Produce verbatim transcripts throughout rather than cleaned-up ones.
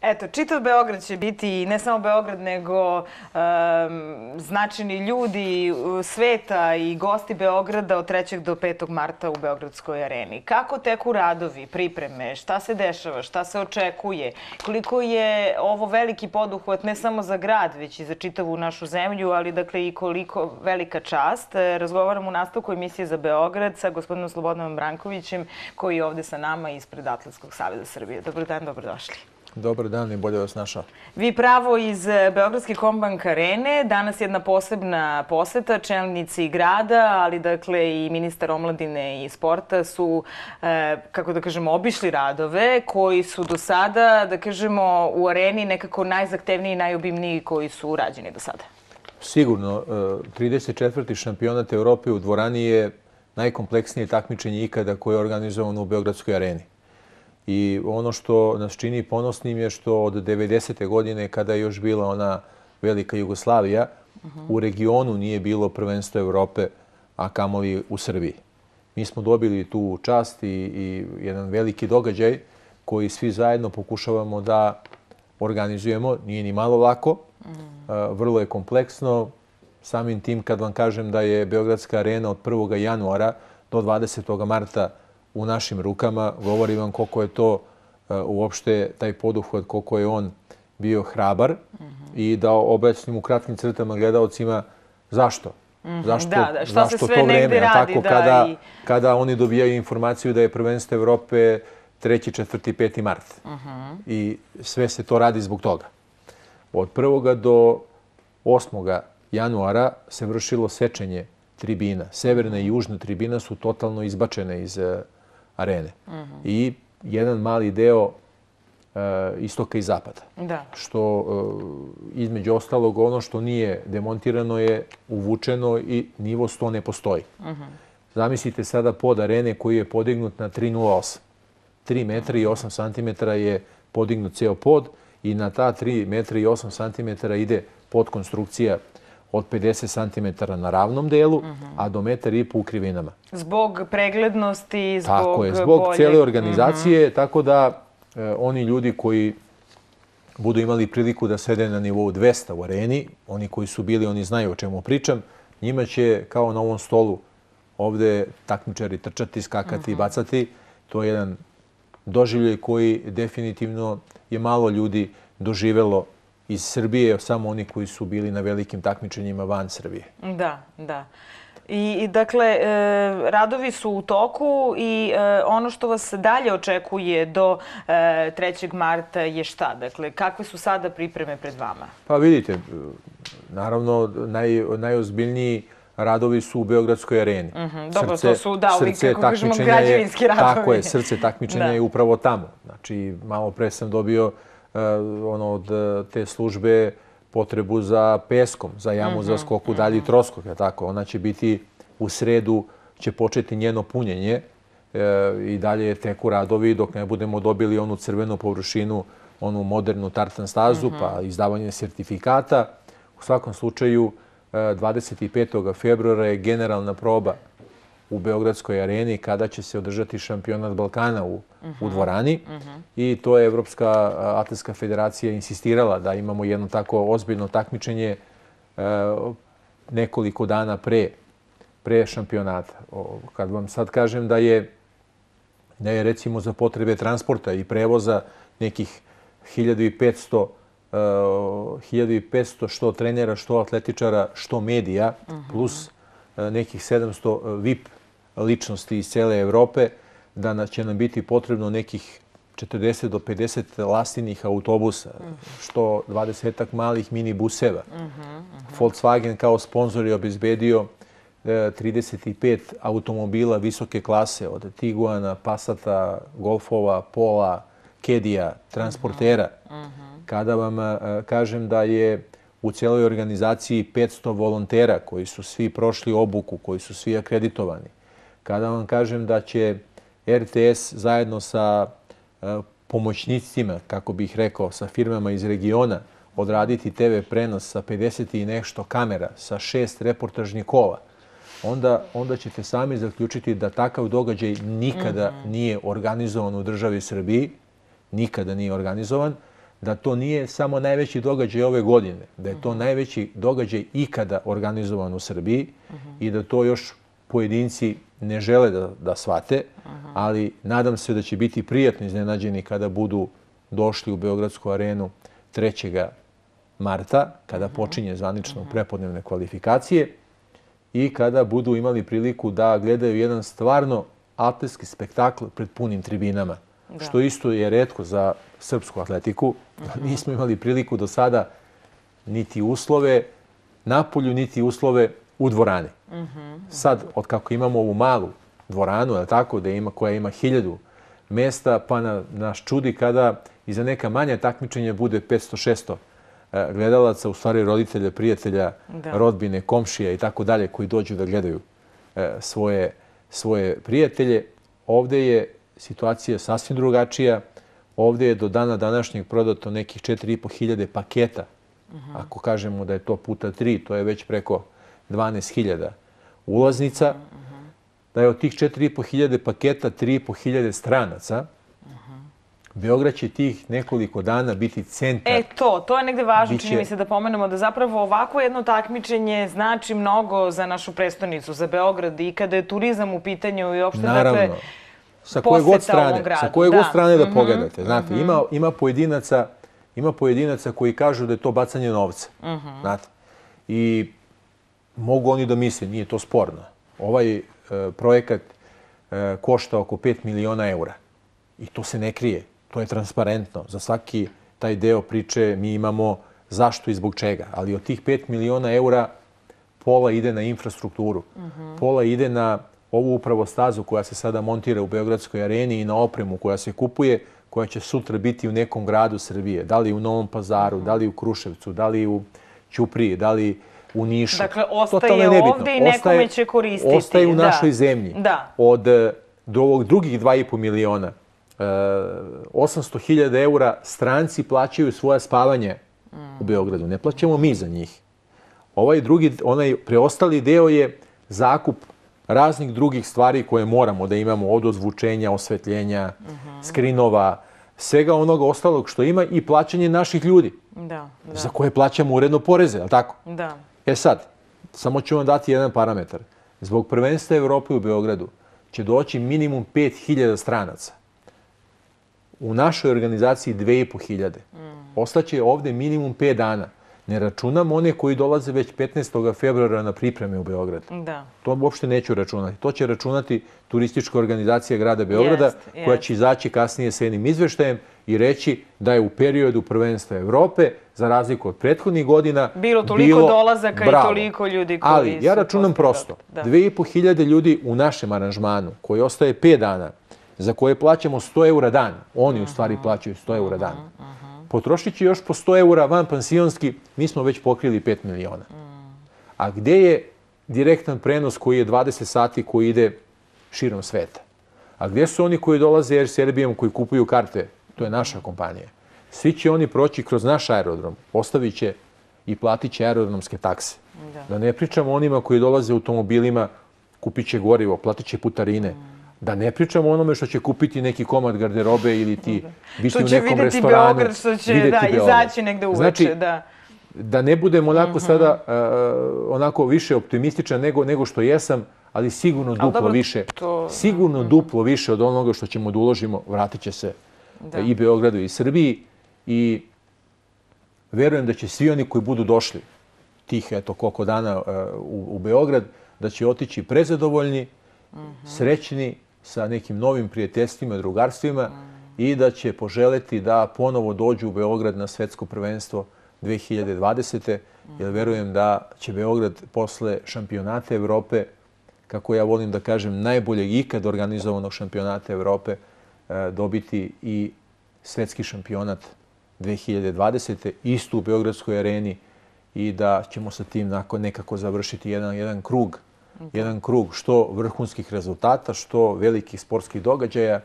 Eto, čitav Beograd će biti, ne samo Beograd, nego um, značajni ljudi sveta i gosti Beograda od trećeg do petog marta u Beogradskoj areni. Kako teku radovi, pripreme, šta se dešava, šta se očekuje, koliko je ovo veliki poduhvat ne samo za grad, već i za čitavu našu zemlju, ali dakle i koliko velika čast. Razgovaram u nastavku emisije za Beograd sa gospodinom Slobodanom Brankovićem, koji je ovde sa nama ispred Atletskog saveza Srbije. Dobar dan, dobrodošli. Dobar dan i bolje vas našao. Vi pravo iz Beogradske Kombank arene. Danas jedna posebna poseta. Čelnici grada, ali dakle i ministar omladine i sporta su, kako da kažemo, obišli radove koji su do sada, da kažemo, u areni nekako najzahtevniji i najobimniji koji su urađeni do sada. Sigurno. trideset četvrti šampionat Evrope u dvorani je najkompleksnije takmičenje ikada koje je organizovano u Beogradskoj areni. I ono što nas čini ponosnim je što od devedesete godine, kada je još bila ona velika Jugoslavija, u regionu nije bilo prvenstvo Evrope, a kamoli u Srbiji. Mi smo dobili tu čast i, i jedan veliki događaj koji svi zajedno pokušavamo da organizujemo. Nije ni malo lako, vrlo je kompleksno. Samim tim, kad vam kažem da je Beogradska arena od prvog januara do dvadesetog marta u našim rukama, govori vam koliko je to uopšte taj poduhvat, koliko je on bio hrabar i da objasnim u kratkim crtama gledalcima zašto. Zašto, da, da, šta zašto se sve to vreme, negde radi, tako, da, kada, i... kada oni dobijaju informaciju da je prvenstvo Evrope treći, četvrti, peti mart. I sve se to radi zbog toga. Od prvoga do osmoga januara se vršilo sečenje tribina. Severna i južna tribina su totalno izbačene iz arene. I jedan mali deo istoka i zapada. Da. Što između ostalog ono što nije demontirano je uvučeno i nivo sto ne postoji. Zamislite sada pod arene koji je podignut na tri nula osam. tri metra i osam centimetara je podignut ceo pod i na ta tri metra i osam centimetara ide podkonstrukcija od pedeset centimetara na ravnom delu, a do metar i po u krivinama. Zbog preglednosti, zbog Tako je, zbog cijele organizacije, tako da oni ljudi koji budu imali priliku da sede na nivou dvesta u areni, oni koji su bili, oni znaju o čemu pričam, njima će kao na ovom stolu ovde takmičari trčati, skakati i bacati. To je jedan doživljaj koji definitivno je malo ljudi doživelo iz Srbije, samo oni koji su bili na velikim takmičenjima van Srbije. Da, da. I, i dakle, e, radovi su u toku i e, ono što vas dalje očekuje do e, trećeg marta je šta? Dakle, kakve su sada pripreme pred vama? Pa vidite, naravno, naj, najozbiljniji radovi su u Beogradskoj areni. Mm-hmm. Dobro, srce, to su, da, ovi, kako kažemo, građevinski je, radovi. Tako je, srce takmičenja je upravo tamo. Znači, malo pre sam dobio uh, ono, od te službe potrebu za peskom, za jamu mm-hmm. za skoku mm-hmm. dalji troskok. Je tako? Ona će biti u sredu, će početi njeno punjenje e, i dalje teku radovi dok ne budemo dobili onu crvenu površinu, onu modernu tartan stazu, mm-hmm. pa izdavanje sertifikata. U svakom slučaju, dvadeset petog februara je generalna proba u Beogradskoj areni kada će se održati šampionat Balkana u, uh-huh. u dvorani. Uh-huh. I to je Evropska atletska federacija insistirala da imamo jedno tako ozbiljno takmičenje e, nekoliko dana pre, pre šampionata. O, kad vam sad kažem da je, da je recimo za potrebe transporta i prevoza nekih hiljadu i petsto hiljadu i petsto što trenera, što atletičara, što medija, uh-huh. plus nekih sedamsto V I P ličnosti iz cele Evrope, da će nam biti potrebno nekih četrdeset do pedeset lastinih autobusa, uh-huh. što dvadesetak malih minibuseva. Uh-huh. Uh-huh. Volkswagen kao sponsor je obezbedio trideset pet automobila visoke klase, od Tiguana, Passata, Golfova, Pola, Kedija, transportera. Uh-huh. Kada vam kažem da je u cijeloj organizaciji petsto volontera koji su svi prošli obuku, koji su svi akreditovani. Kada vam kažem da će R T S zajedno sa pomoćnicima, kako bih rekao, sa firmama iz regiona, odraditi te ve prenos sa pedeset i nešto kamera, sa šest reportažnih kola, onda, onda ćete sami zaključiti da takav događaj nikada mm-hmm. nije organizovan u državi Srbiji. Nikada nije organizovan. da to nije samo najveći događaj ove godine, da je to najveći događaj ikada organizovan u Srbiji i da to još pojedinci ne žele da, da shvate, ali nadam se da će biti prijatno iznenađeni kada budu došli u Beogradsku arenu trećeg marta, kada počinje zvanično prepodnevne kvalifikacije i kada budu imali priliku da gledaju jedan stvarno atletski spektakl pred punim tribinama. Da. Što isto je retko za srpsku atletiku. Nismo imali priliku do sada niti uslove napolju, niti uslove u dvorani. Sad, od kako imamo ovu malu dvoranu, je tako, da ima, koja ima hiljadu mesta, pa na, nas čudi kada i za neka manja takmičenja bude petsto šesto gledalaca, u stvari roditelja, prijatelja, da. rodbine, komšija i tako dalje, koji dođu da gledaju svoje, svoje prijatelje. Ovdje je situacija sasvim drugačija. Ovdje je do dana današnjeg prodato nekih četiri i po hiljade paketa. Uh-huh. Ako kažemo da je to puta tri, to je već preko dvanaest hiljada ulaznica. Uh-huh. Da je od tih četiri i po hiljade paketa tri i po hiljade stranaca. Uh-huh. Beograd će tih nekoliko dana biti centar. E to, to je negde važno, Biće... čini mi se da pomenemo da zapravo ovako jedno takmičenje znači mnogo za našu prestonicu, za Beograd i kada je turizam u pitanju i uopšte, Naravno. dakle, sa koje god strane, sa koje god strane da pogledate. Znate, ima, ima, pojedinaca, ima pojedinaca koji kažu da je to bacanje novca. Znate. I mogu oni da misle, nije to sporno. Ovaj e, projekat e, košta oko pet miliona eura. I to se ne krije. To je transparentno. Za svaki taj deo priče mi imamo zašto i zbog čega. Ali od tih pet miliona eura pola ide na infrastrukturu. Pola ide na ovu upravo stazu koja se sada montira u Beogradskoj areni i na opremu koja se kupuje, koja će sutra biti u nekom gradu Srbije. Da li u Novom Pazaru, da li u Kruševcu, da li u Ćupriji, da li u Nišu. Dakle, ostaje ovdje i nekome će koristiti. Ostaje u našoj zemlji. Da. Od do ovog drugih dva i po miliona, osamsto hiljada eura stranci plaćaju svoje spavanje u Beogradu. Ne plaćamo mi za njih. Ovaj drugi, onaj preostali deo je zakup raznih drugih stvari koje moramo da imamo, od ozvučenja, osvetljenja, uh-huh. skrinova, svega onoga ostalog što ima i plaćanje naših ljudi. Da, da. Za koje plaćamo uredno poreze, je li tako? Da. E sad, samo ću vam dati jedan parametar. Zbog prvenstva Evrope u Beogradu će doći minimum pet hiljada stranaca. U našoj organizaciji dve i po hiljade. Mm. Ostaće ovdje minimum pet dana. Ne računam one koji dolaze već petnaestog februara na pripreme u Beograd. Da. To uopšte neću računati. To će računati turistička organizacija grada Beograda, jest, koja će izaći kasnije s jednim izveštajem i reći da je u periodu prvenstva Evrope, za razliku od prethodnih godina, bilo toliko bilo, dolazaka bravo. I toliko ljudi koji Ali ja računam prosto. Dve i po hiljade ljudi u našem aranžmanu, koji ostaje pet dana, za koje plaćamo sto eura dan. Oni u stvari plaćaju sto eura dan. Potrošit će još po sto eura van pansionski, mi smo već pokrili pet miliona. A gdje je direktan prenos koji je dvadeset sati koji ide širom sveta? A gdje su oni koji dolaze Air Serbijom, koji kupuju karte? To je naša kompanija. Svi će oni proći kroz naš aerodrom, ostavit će i platit će aerodromske takse. Da. da ne pričamo onima koji dolaze automobilima, kupit će gorivo, platit će putarine. Da ne pričamo onome što će kupiti neki komad garderobe ili ti biti u nekom restoranu. Beograd, što će vidjeti da, izaći negde uveče. Znači, da. da ne budem onako uh-huh. sada uh, onako više optimističan nego, nego što jesam, ali sigurno duplo dobro, više. To... Sigurno uh-huh. duplo više od onoga što ćemo da uložimo, vratit će se da. i Beogradu i Srbiji. I verujem da će svi oni koji budu došli tih eto koliko dana uh, u, u Beograd, da će otići prezadovoljni, uh-huh. srećni, sa nekim novim prijateljstvima, drugarstvima mm. i da će poželeti da ponovo dođu u Beograd na svetsko prvenstvo dve hiljade dvadesete. Mm. Jer verujem da će Beograd posle šampionata Evrope, kako ja volim da kažem, najboljeg ikad organizovanog šampionata Evrope, dobiti i svetski šampionat dve hiljade dvadesete. isto u Beogradskoj areni i da ćemo sa tim nekako završiti jedan, jedan krug jedan krug što vrhunskih rezultata, što velikih sportskih događaja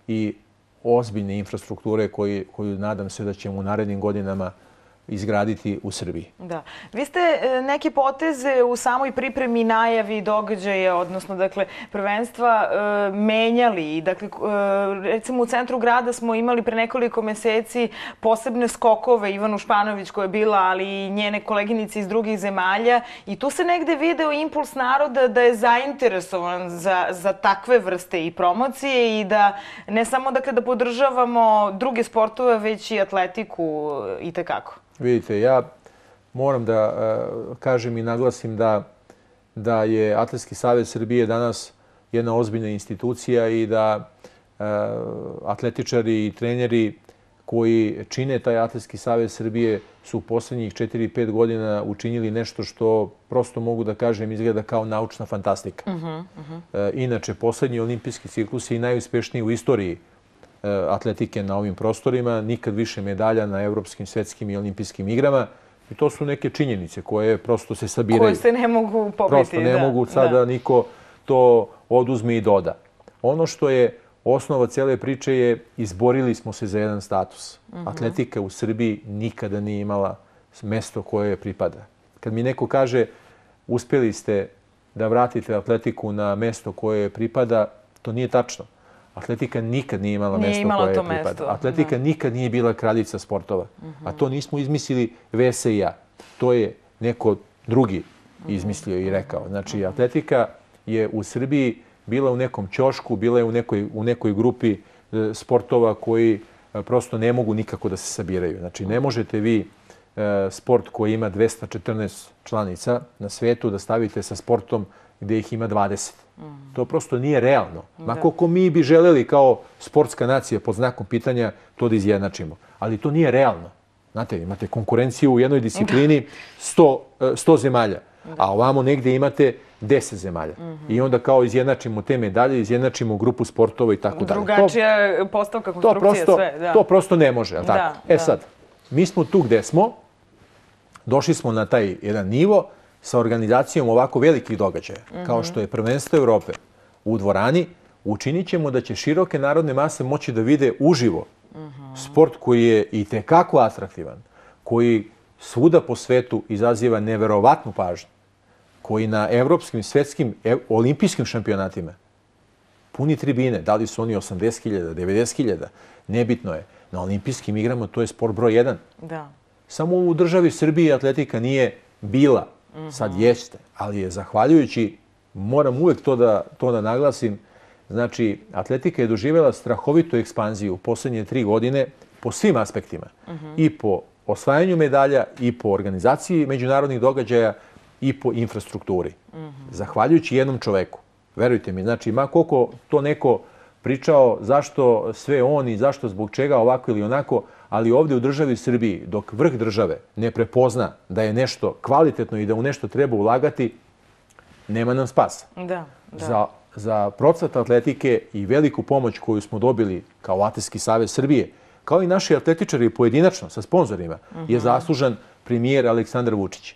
i ozbiljne infrastrukture koji, koju nadam se da ćemo u narednim godinama izgraditi u Srbiji. Da. Vi ste neke poteze u samoj pripremi najavi događaja, odnosno dakle, prvenstva menjali. Dakle, recimo u centru grada smo imali pre nekoliko meseci posebne skokove Ivanu Španović koja je bila, ali i njene koleginice iz drugih zemalja. I tu se negde video impuls naroda da je zainteresovan za, za takve vrste i promocije i da ne samo dakle, da podržavamo druge sportove, već i atletiku i tekako. Vidite, ja moram da uh, kažem i naglasim da, da je Atletski savez Srbije danas jedna ozbiljna institucija i da uh, atletičari i treneri koji čine taj Atletski savez Srbije su u poslednjih četiri pet godina učinili nešto što prosto mogu da kažem izgleda kao naučna fantastika. Uh -huh, uh -huh. Uh, inače, poslednji olimpijski ciklus je i najuspešniji u istoriji atletike na ovim prostorima, nikad više medalja na evropskim, svetskim i olimpijskim igrama. I to su neke činjenice koje prosto se sabiraju. Koje se ne mogu pobiti. Prosto ne mogu sada niko to oduzme i doda. Ono što je osnova cele priče je izborili smo se za jedan status. Atletika u Srbiji nikada nije imala mesto koje je pripada. Kad mi neko kaže uspjeli ste da vratite atletiku na mesto koje je pripada, to nije tačno. Atletika nikad nije imala mesto koje je pripada. Atletika nikad nije bila kraljica sportova. A to nismo izmislili Vese i ja. To je neko drugi izmislio i rekao. Znači, atletika je u Srbiji bila u nekom ćošku, bila je u nekoj, u nekoj grupi sportova koji prosto ne mogu nikako da se sabiraju. Znači, ne možete vi sport koji ima dvesta četrnaest članica na svetu da stavite sa sportom gdje ih ima dvadeset. To prosto nije realno. Ma koliko mi bi želeli kao sportska nacija pod znakom pitanja to da izjednačimo. Ali to nije realno. Znate, imate konkurenciju u jednoj disciplini sto zemalja, a ovamo negdje imate deset zemalja. I onda kao izjednačimo te medalje, izjednačimo grupu sportova i tako dalje. Drugačija postavka konstrukcije, sve. To prosto ne može. E sad, mi smo tu gdje smo, došli smo na taj jedan nivo sa organizacijom ovako velikih događaja, kao što je prvenstvo Evrope u dvorani, učinit ćemo da će široke narodne mase moći da vide uživo sport koji je i tekako atraktivan, koji svuda po svetu izaziva neverovatnu pažnju, koji na evropskim, svetskim, olimpijskim šampionatima puni tribine, da li su oni osamdeset hiljada, devedeset hiljada, nebitno je. Na olimpijskim igrama to je sport broj jedan. Samo u državi Srbiji atletika nije bila. Sad jeste, ali je zahvaljujući, moram uvek to da, to da naglasim, znači atletika je doživjela strahovitu ekspanziju u posljednje tri godine po svim aspektima. I po osvajanju medalja, i po organizaciji međunarodnih događaja, i po infrastrukturi. Zahvaljujući jednom čoveku. Verujte mi, znači, ma koliko to neko pričao zašto sve on i zašto zbog čega ovako ili onako, ali ovdje u državi Srbiji, dok vrh države ne prepozna da je nešto kvalitetno i da u nešto treba ulagati, nema nam spasa. Da, da. Za, za procvat atletike i veliku pomoć koju smo dobili kao Atletski savez Srbije, kao i naši atletičari pojedinačno sa sponzorima, uh-huh. je zaslužan premijer Aleksandar Vučić.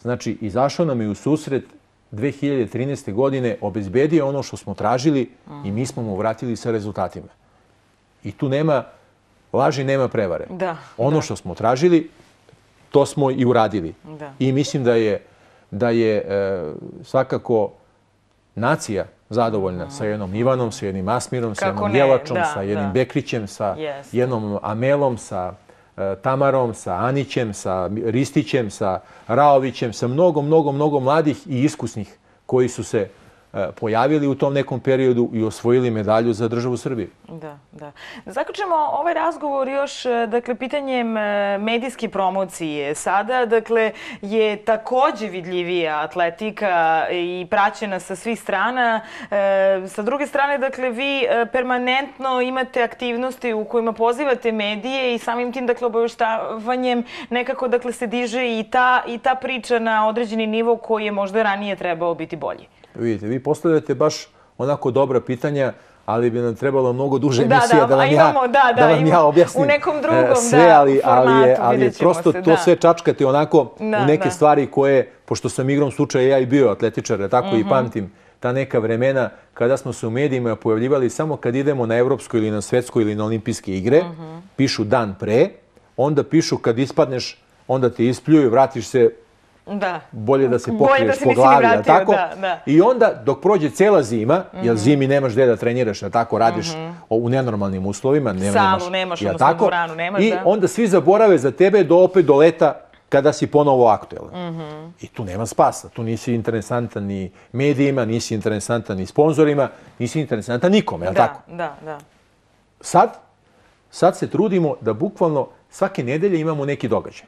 Znači, izašao nam je u susret dve hiljade trinaeste. godine, obezbedio ono što smo tražili uh-huh. i mi smo mu vratili sa rezultatima. I tu nema laži, nema prevare. Da, ono da. što smo tražili, to smo i uradili. Da. I mislim da je, da je e, svakako nacija zadovoljna uh-huh. sa jednom Ivanom, sa jednim Asmirom, Kako sa jednom ne? Jelačom, Da, sa jednim da. Bekrićem, sa Yes. jednom Amelom, sa e, Tamarom, sa Anićem, sa Ristićem, sa Raovićem, sa mnogo, mnogo, mnogo mladih i iskusnih koji su se pojavili u tom nekom periodu i osvojili medalju za državu Srbije. Da, da. Zaključemo ovaj razgovor još, dakle, pitanjem medijske promocije. Sada, dakle, je takođe vidljivija atletika i praćena sa svih strana. E, sa druge strane, dakle, vi permanentno imate aktivnosti u kojima pozivate medije i samim tim, dakle, obaveštavanjem nekako, dakle, se diže i ta, i ta priča na određeni nivo koji je možda ranije trebao biti bolji. Vidite, vi postavljate baš onako dobra pitanja, ali bi nam trebalo mnogo duže emisija da vam ja, da, da vam ja objasnim u nekom drugom sve, ali, formatu, ali je, ali je prosto se, to da. sve čačkate onako da, u neke da. stvari koje, pošto sam igrom slučaja ja i bio atletičar, tako mm-hmm. i pamtim ta neka vremena kada smo se u medijima pojavljivali samo kad idemo na evropsko ili na svetsko ili na olimpijske igre, mm-hmm. pišu dan pre, onda pišu kad ispadneš onda te ispljuju, vratiš se, Da. bolje da se Bolje pokriješ da se po nisi ni glavi, vratio, jel tako? da, da. I onda dok prođe cijela zima, jer zimi nemaš gdje da treniraš, jel tako, radiš u nenormalnim uslovima, nema- Salu nemaš, jel odnosno tako? dvoranu nemaš, I da. onda svi zaborave za tebe do opet do leta kada si ponovo aktuelan. I tu nema spasa, tu nisi interesantan ni medijima, nisi interesantan ni sponzorima, nisi interesantan nikome, jel tako? Da, da, da. Sad, sad se trudimo da bukvalno svake nedelje imamo neki događaj.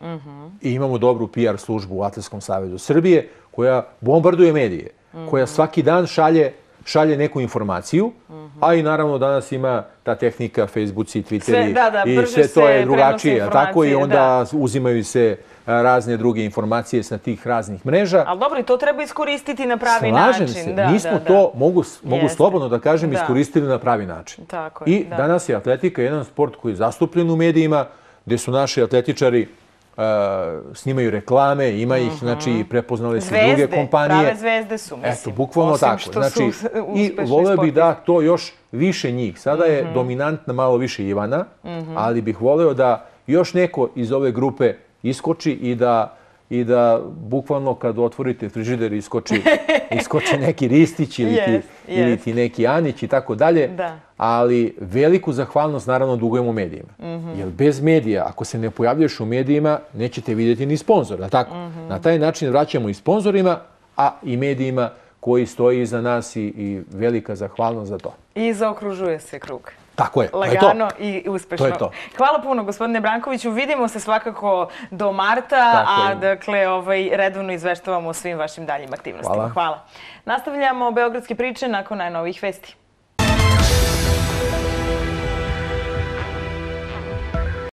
I imamo dobru P R službu u Atletskom savezu Srbije koja bombarduje medije, koja svaki dan šalje, šalje neku informaciju, a i naravno danas ima ta tehnika, Facebooci, Twitteri Sve- da, da, i brže sve to se je drugačije, prenose tako? I informacije, onda uzimaju se a, razne druge informacije sa tih raznih mreža. Ali dobro, i to treba iskoristiti na pravi Slažem način. se, Da, mi smo da, da. to, mogu, mogu Jeste. slobodno da kažem, Da. iskoristili na pravi način. Tako je, I da. danas je atletika jedan sport koji je zastupljen u medijima, gdje su naši atletičari uh, snimaju reklame, ima ih, znači prepoznale su druge Zvezde, kompanije. prave zvezde su, mislim. Eto, bukvalno Osim tako. što Znači, su i uspešni voleo bih sportisti. da to još više njih. Sada je dominantna malo više Ivana, ali bih voleo da još neko iz ove grupe iskoči i da i da bukvalno kad otvorite frižider iskoči, iskoči neki Ristić ili, ti, Jest, ili jest. ti neki Anić i tako dalje. Da. Ali veliku zahvalnost naravno dugujemo medijima. Jer bez medija, ako se ne pojavljuješ u medijima, nećete vidjeti ni sponzora. Tako? Na taj način vraćamo i sponzorima, a i medijima koji stoji iza nas i, i velika zahvalnost za to. I zaokružuje se krug. Tako je, to je to. Lagano i uspešno. To je to. Hvala puno, gospodine Brankoviću. Vidimo se svakako do marta, Tako a je. dakle, ovaj, redovno izveštavamo o svim vašim daljim aktivnostima. Hvala. Hvala. Nastavljamo Beogradske priče nakon najnovijih vesti.